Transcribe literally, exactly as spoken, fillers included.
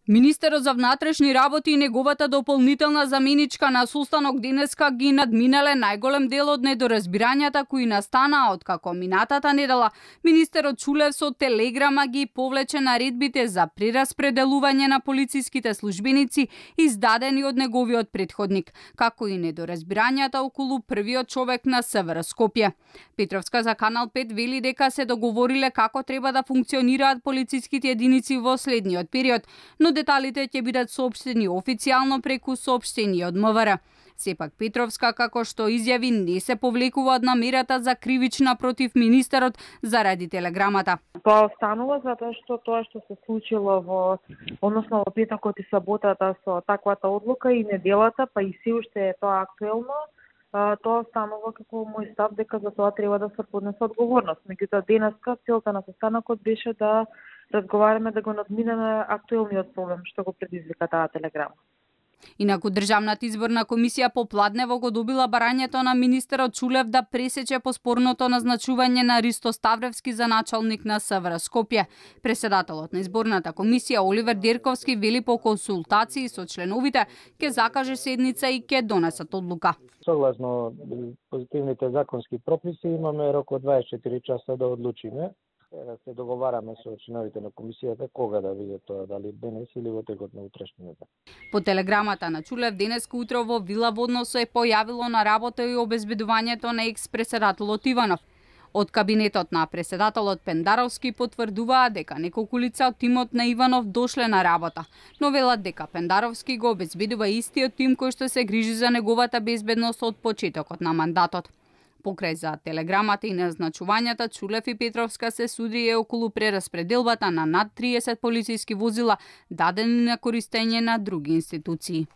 Министерот за внатрешни работи и неговата дополнителна заменичка на состанок денеска ги надминале најголем дел од недоразбирањата кои настанаа откако минатата недела министерот Чулев со телеграма ги повлече наредбите за прераспределување на полициските службеници издадени од неговиот претходник, како и недоразбирањата околу првиот човек на СВР Скопје. Петровска за Канал пет вели дека се договориле како треба да функционираат полициските единици во следниот период, но деталите ќе бидат соопштени официјално преку соопштение од МВР. Сепак Петровска, како што изјави, не се повлекува од намерата за кривична против министерот заради телеграмата. Тоа останува затоа што тоа што се случило во односно во петокот и саботата со таквата одлука и неделата, па и се уште е тоа актуелно, тоа останува како мој став дека за тоа треба да се поднесе одговорност. Меѓутоа денеска целта на состанокот беше да разговараме да го надминеме актуелниот проблем што го предизвика таа телеграма. Инаку Државната изборна комисија попладнево го добила барањето на министерот Чулев да пресече по спорното назначување на Ристо Ставревски за началник на СВР Скопје. Преседателот на изборната комисија Оливер Дерковски вели по консултации со членовите ќе закаже седница и ќе донесат одлука. Согласно позитивните законски прописи имаме рок од дваесет и четири часа да одлучиме. Се договараме со членовите на комисијата кога да биде тоа, дали денес или во текот на утрешниот ден. По телеграмата на Чулев денеска утро во Вила Водно се е појавило на работа и обезбедувањето на екс-преседателот Иванов. Од кабинетот на преседателот Пендаровски потврдуваа дека неколку лица од тимот на Иванов дошле на работа, но велат дека Пендаровски го обезбедува истиот тим кој што се грижи за неговата безбедност од почетокот на мандатот. Покрај за телеграмата и назначувањата, Чулев и Петровска се судија околу прераспределбата на над триесет полициски возила дадени на користење на други институции.